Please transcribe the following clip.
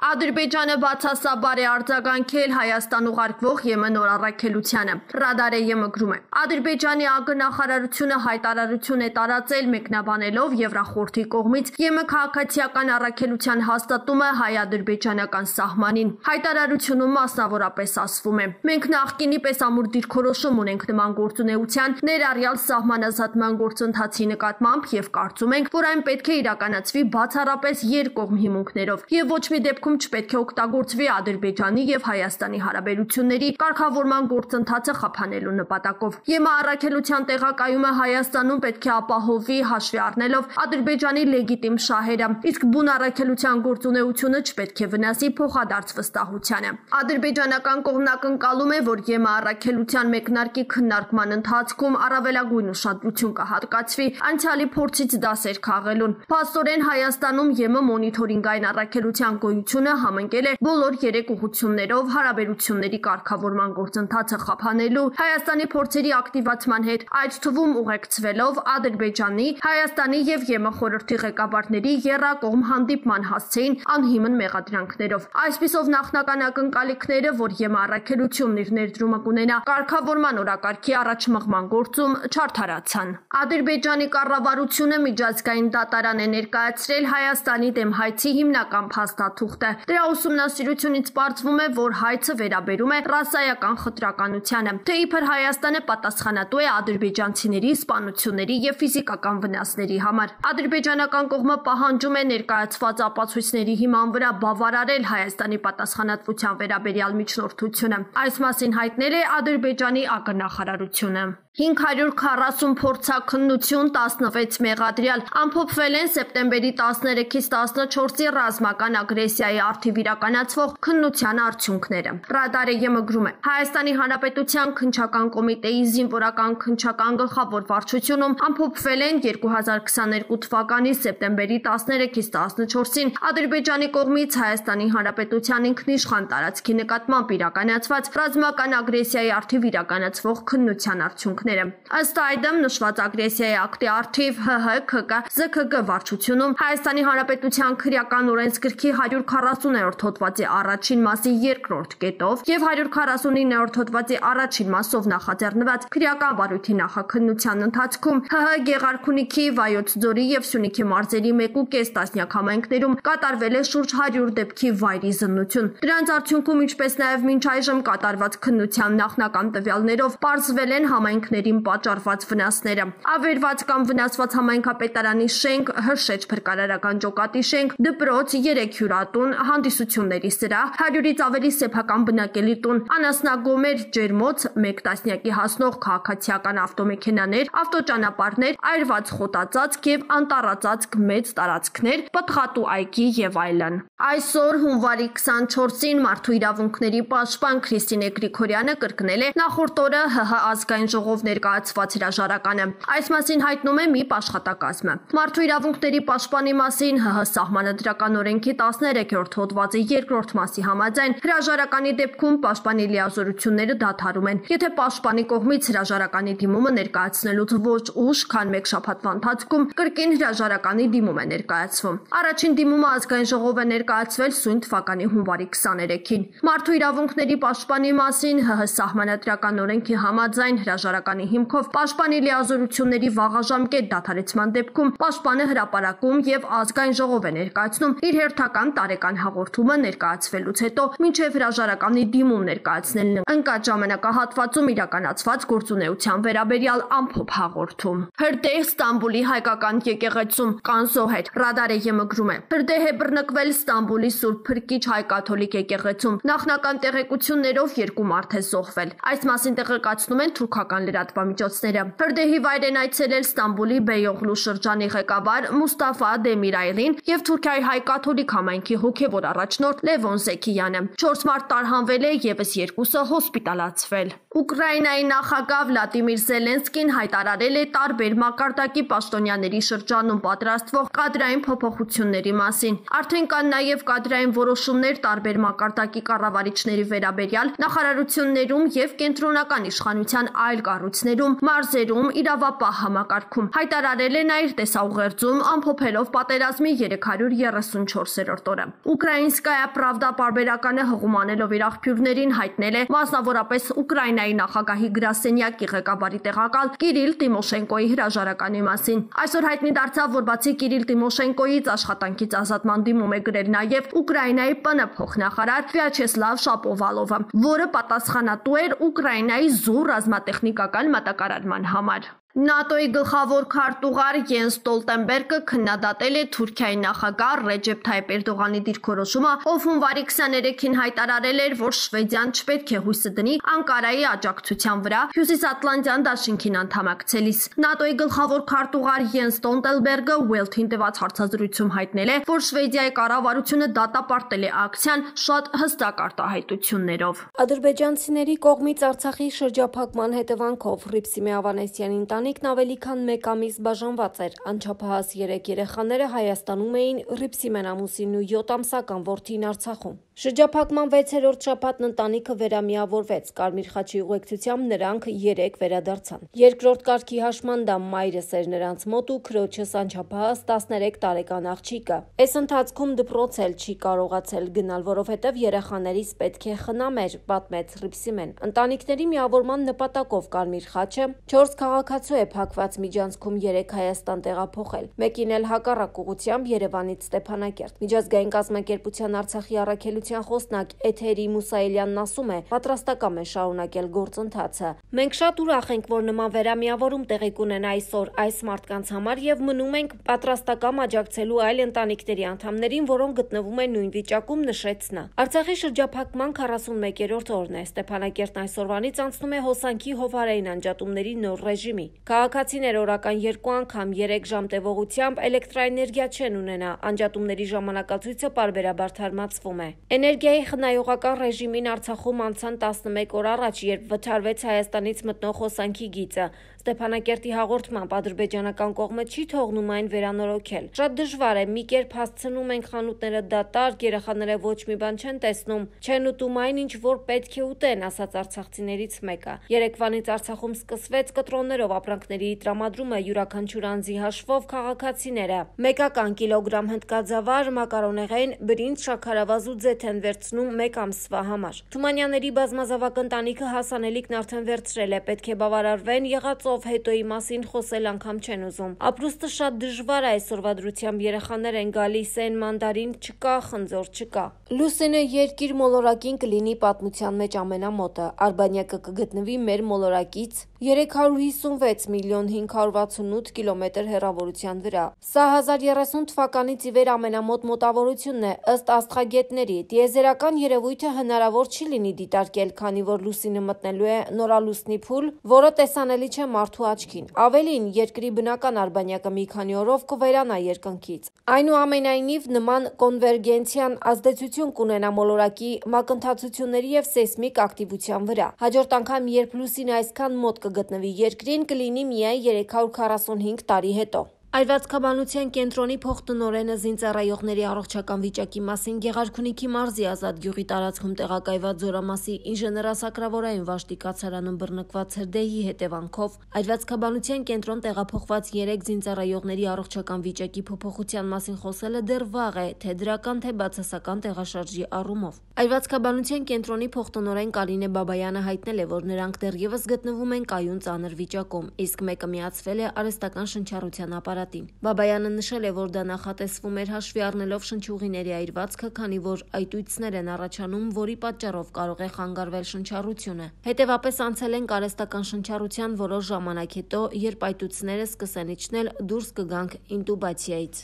Ադրբեջանը բացասաբար է արձագանքել Հայաստան ուղարկվող ԵՄ նոր առաքելությանը։ Ռադար ԵՄ գրում է. Ադրբեջանի ԱԳ նախարարությունը հայտարարություն է տարածել մեկնաբանելով Եվրախորհրդի կողմից ԵՄ քաղաքացիական առաքելության հաստատումը հայ-ադրբեջանական սահմանին։ Հայտարարությունում մասնավորապես ասվում է. մենք նախկինի պես ամուր դիրքորոշում ունենք նման գործունեության ներառյալ սահմանազատման գործընթացի նկատմամբ եւ կարծում ենք, որ այն պետք է իրականացվի բացառապես երկկողմ հիմունքներով եւ ոչ մի դեպքում չպետք է օգտագործվի Ադրբեջանի եւ Հայաստանի հարաբերությունների կարգավորման գործընթացը խափանելու նպատակով։ ԵՄ առաքելության տեղակայումը Հայաստանում պետք է ապահովի հաշվի առնելով Ադրբեջանի լեգիտիմ շահերը, իսկ բուն առաքելության գործունեությունը չպետք է վնասի փոխադարձ վստահությանը։ Ադրբեջանական կողմն ակնկալում է, որ ԵՄ առաքելության մեկնարկի քննարկման ընթացքում առավելագույն ուշադրություն կհատկացվի անցյալի փորձից դասեր քաղելուն։ Փաստորեն Հայաստանում ԵՄ մոնիթորինգային առաքելության գոյությունը համընկել է բոլոր 3 ուղղություններով հարաբերությունների կարգավորման գործընթացը խափանելու Հայաստանի փորձերի ակտիվացման հետ, այդ թվում ուղեկցվելով Ադրբեջանի, Հայաստանի եւ ԵՄ խորհրդի ղեկավարների եռակողմ հանդիպման հասցեին անհիմն մեղադրանքներով։ Այսպիսով նախնական ակնկալիքները, որ ԵՄ առաքելությունն իր ներդրումը կունենա կարգավորման օրակարգի առաջմղման գործում, չարդարացան։ Ադրբեջանի կառավարությունը միջազգային դատարան է ներկայացրել Հայաստանի դեմ հայցի հիմնական փաստաթուղթը։ Դրա ուսումնասիրությունից պարզվում է, որ հայցը վերաբերում է ռասայական խտրականությանը, թե իբր Հայաստանը պատասխանատու է ադրբեջանցիների սպանությունների եւ ֆիզիկական վնասների համար։ Ադրբեջանական կողմը պահանջում է ներկայացված ապացույցների հիման վրա բավարարել Հայաստանի պատասխանատվության վերաբերյալ միջնորդությունը։ Այս մասին հայտնել է Ադրբեջանի ԱԳ նախարարությունը։ 540 փորձաքննություն, 16 մեղադրյալ ամփոփվել են սեպտեմբերի 13-ից 14-ի ռազմական ագրեսիայի առթիվ իրականացվող քննության արդյունքները։ Ռադարը ԵՄ գրում է. Հայաստանի Հանրապետության քննչական կոմիտեի զինվորական քննչական գլխավոր վարչությունում ամփոփվել են 2022 թվականի սեպտեմբերի 13-ից 14-ին Ադրբեջանի կողմից Հայաստանի Հանրապետության ինքնիշխան տարածքի նկատմամբ իրականացված ռազմական ագրեսիայի առթիվ իրականացվող քննության արդյունքները։ Ըստ այդմ նշված ագրեսիայի ակտի առթիվ ՀՀ, ՔԿ, ԶՔԳ վարչությունում Հայաստանի Հանրապետության քրեական օրենսգրքի 140-րդ հոդվածի առաջին մասի 2-րդ կետով եւ 149-րդ հոդվածի առաջին մասով նախաձեռնված քրեական բարույթի նախաքննության ընթացքում ՀՀ Գեղարքունիքի, Վայոց ձորի եւ Սյունիքի մարզերի 1.5 տասնյակ համայնքներում կատարվել է շուրջ 100 դեպքի վայրի զննություն։ Դրանց արդյունքում, ինչպես նաեւ մինչ այժմ կատարված քննության նախնական տվյալներով պարզվել են համայնքներին պատճառված վնասները։ Ավերված կամ վնասված համայնքապետարանի շենք, Հրշեջ փրկարարական ջոկատի շենք, դպրոց, 3 հյուրատուն, հանդիսությունների սրահ, 100-ից ավելի սեփական բնակելի տուն, անասնագոմեր, ջերմոց, 1 տասնյակի հասնող քաղաքացիական ավտոմեքենաներ, ավտոճանապարհներ, այրված խոտածածկ եւ անտառածածկ մեծ տարածքներ, պտղատու այգի եւ այլն։ Այսօր հունվարի 24-ին Մարդու իրավունքների պաշտպան Քրիստինե Գրիգորյանը կրկնել է նախորդ օրը ՀՀ ազգային ժողով ներկայացված հրաժարականը։ Այս մասին հայտնում է ՄԻՊ աշխատակազմը։ Մարդու իրավունքների պաշտպանի մասին ՀՀ սահմանադրական օրենքի 13-րդ հոդվածի 2-րդ մասի համաձայն հրաժարականի դեպքում պաշտպանի լիազորությունները դադարում են, եթե պաշտպանի կողմից հրաժարականի դիմումը ներկայացնելուց ոչ ուշ, քան 1 շաբաթվա ընթացքում կրկին հրաժարականի դիմում է ներկայացվում։ Առաջին դիմումը ազգային ժողով է ներկայացվել սույն թվականի հունվարի 23-ին։ Մարդու իրավունքների պաշտպանի մասին ՀՀ սահմանադրական օրենքի համաձայն հրաժարականի հիմքով պաշտպանի լիազորությունների վաղաժամկետ դադարեցման դեպքում պաշտպանը հրապարակում եւ ազգային ժողով է ներկայացնում իր հերթական տարեկան հաղորդումը ներկայացվելուց հետո մինչեւ հրաժարականի դիմում ներկայացնելն ընկած ժամանակահատվածում իրականացված գործունեության վերաբերյալ ամփոփ հաղորդում։ Հրդեհ Ստամբուլի հայկական եկեղեցում կանզոհետ Ռադարը ԵՄ գրում է. Հրդեհ է բռնկվել Ստամբուլի Սուրբ Փրկիչ հայ կաթոլիկ եկեղեցում։ Նախնական տեղեկություններով 2 մարդ է զոհվել։ Այս մասին տեղեկացնում են թուրքական լրատվամիջոցները։ Հրդեհի վայր են այցելել Ստամբուլի Բեյօղլու շրջանի ղեկավար Մուստաֆա Դեմիրայլին եւ Թուրքիայի հայ կաթոլիկ համայնքի հոգեվոր առաջնորդ Լևոն Զեքիյանը։ 4 մարդ տարհանվել է, եւս 2-ը հոսպիտալացվել։ Ուկրաինայի նախագահ Վլադիմիր Զելենսկին հայտարարել է տարբեր մակարդակի պաշտոնյաների շրջանում պատրաստվող կադրային փոփոխությունների մասին։ Արդեն կան նաև կադրային որոշումներ տարբեր մակարդակի կառավարիչների վերաբերյալ նախարարություններում եւ կենտրոնական իշխանության այլ կառույցներում, մարզերում, իրավապահ համակարգում։ Հայտարարել է նա իր տեսաուղերձում ամփոփելով պատերազմի 334-րդ օրը։ Ուկրաինսկայա Պրավդա պարբերականը հղումանելով իր աղբյուրներին հայտնել է մասնավորապես Ուկրաինայի նախագահի գրասենյակի ղեկավարի տեղակալ Կիրիլ Տիմոշենկոյի հրաժարականի մասին։ Այսօր հայտնի դարձավ, որ բացի Կիրիլ Տիմոշենկոյից աշխատանքից ազատման դիմում է գրել նաև Ուկրաինայի ՊՆ փոխնախարար Վյաչեսլավ Շապովալովը, որը պատասխանատու էր Ուկրաինայի զուր ռազմատեխնիկական մատակարարման համար։ ՆԱՏՕ-ի գլխավոր քարտուղար Յենս Ստոլտենբերգը քննադատել է Թուրքիայի նախագահ Ռեջեփ Թայիպ Էրդողանի դիրքորոշումը, ով հունվարի 23-ին հայտարարել էր, որ Շվեդիան չպետք է հույսը դնի Անկարայի աջակցության վրա Հյուսիսատլանտյան դաշինքին անդամակցելիս։ ՆԱՏՕ-ի գլխավոր քարտուղար Յենս Ստոլտենբերգը Ուելթին տված հարցազրույցում հայտնել է, որ Շվեդիայի կառավարությունը դատապարտել է ակցիան շատ հստակ արտահայտություններով։ Ադրբեջանցիների կողմից Արցախի շրջափակման հետևանքով Հռիփսիմե Ավանեսյանի ընտանիքն ավելի քան մեկ ամիս բաժանված էր։ Անչափահաս 3 երեխաները Հայաստանում էին, Հռիփսիմեն ամուսինն ու 7 ամսական որդին Արցախում։ Շրջափակման 6-րդ շաբաթն ընտանիքը վերամիավորվեց։ Կարմիր խաչի ուղեկցությամբ նրանք 3 վերադարձան։ Երկրորդ կարգի հաշմանդամ մայրս էր նրանց մոտ ու քրոջս անչափահաս 13 տարեկան աղջիկը։ Այս ընթացքում դպրոց էլ չի կարողացել գնալ, որովհետև երեխաներից պետք է խնամեր, պատմեց Հռիփսիմեն։ Ընտանիքների միավորման նպատակով Կարմիր խաչը 4 քաղաքացու է փակված միջանցքում 3 Հայաստան տեղափոխել։ Մեկին էլ հակառակ ուղղությամբ Երևանից Ստեփանակերտ։ Միջազգային կազմակերպության Արցախի առաքելության խոսնակ Էթերի Մուսայելյանն ասում է, պատրաստակամ է շարունակել գործընթացը։ Մենք շատ ուրախ ենք, որ նման վերամիավորում տեղի կունենա այսօր այս մարդկանց համար եւ մնում ենք պատրաստակամ աջակցելու այլ ընտանիքների անդամներին, որոնք գտնվում են նույն վիճակում, նշեց նա։ Արցախի շրջափակման 41-րդ օրն է։ Ստեփանակերտն այսօրվանից անցնում է հոսանքի հովարային անջատումների նոր ռեժիմի։ Քաղաքացիներ օրական 2 անգամ 3 ժամ տևողությամբ էլեկտրաէներգիա չեն ունենա։ Անջատումների ժամանակացույցը պարբերաբար թարմացվում է։ Էներգիայի խնայողական ռեժիմին Արցախում անցան 11 օր առաջ, երբ վթարվեց Հայաստանից մտնող հոսանքի գիծը։ Ստեփանակերտի հաղորդմամբ ադրբեջանական կողմը չի թողնում այն վերանորոգել։ Շատ դժվար է, մի կերպ հասցնում ենք խանութները դատարկ, երեխաները ոչ մի բան չեն տեսնում, չեն ուտում այն, ինչ որ պետք է ուտեն, ասաց արցախցիներից մեկը։ Երեկվանից Արցախում սկսվեց կտրոններով ապրանքների տրամադրումը յուրաքանչյուր անձի հաշվով քաղաքացիները մեկական կիլոգրամ հնդկաձավար, մակարոնեղեն, բրինձ, շաքարավազ ու ձեթ են վերցնում մեկ ամսվա համար։ Թումանյանների բազմազավակ ընտանիքը հասանելիքն արդեն վերցրել է, պետք է բավարարվեն եղածով, հետոյի մասին խոսել անգամ չեն ուզում։ Ապրուստը շատ դժվար է այսօրվա դրությամբ, երեխաներ են գալիս են, մանդարին չկա, խնձոր չկա։ Լուսինը երկիր մոլորակին կլինի պատմության մեջ ամենամոտը։ Արբանյակը կգտնվի մեր մոլորակից 356 միլիոն 568 կիլոմետր հեռավորության վրա։ Սա 1030 թվականից ի վեր ամենամոտ մոտավորությունն է, ըստ աստղագետների։ Տիեզերական երևույթը հնարավոր չի լինի դիտարկել, քանի որ լուսինը մտնելու է նորալուսնի փուլ, որը տեսանելի չէ մարդու աչքին։ Ավելին, երկրի բնական արբանյակը մի քանի օրով կվերանա երկնքից։ Այնուամենայնիվ, նման կոնվերգենցիան ազդեցություն կունենա մոլորակի մակընթացությունների եւ սեյսմիկ ակտիվության վրա։ Հաջորդ անգամ, երբ լուսինը այսքան մոտ կգտնվի երկրին, կլինի միայն 345 տարի հետո։ Այրվածքաբանության կենտրոնի փոխտնօրենը զինծառայողների առողջական վիճակի մասին Գեղարքունիքի մարզի Ազատ գյուղի տարածքում տեղակայված Զորամասի ինժեներասակրավորային վաշտի կացարանում բռնկված հրդեհի հետևանքով այրվածքաբանության կենտրոն տեղափոխված 3 զինծառայողների առողջական վիճակի փոփոխության մասին խոսելը դեռ վաղ է, թե դրական, թե բացասական տեղաշարժի առումով։ Այրվածքաբանության կենտրոնի փոխտնօրեն Կարինե Բաբայանը հայտնել է, որ նրանք դեռևս գտնվում են կայուն ծանր վիճակում, իսկ մեկը միացվել է արհեստական շնչառության ապարատին։ Բաբայանը նշել է, որ դա նախատեսվում էր հաշվի առնելով շնչուղիների այրվածքը, քանի որ այտույցներ են առաջանում, որի պատճառով կարող է խանգարվել շնչառությունը։ Հետևապես անցել են արհեստական շնչառության որոշ ժամանակ հետո, երբ այտույցները սկսեն իջնել, դուրս կգանք ինտուբացիայից։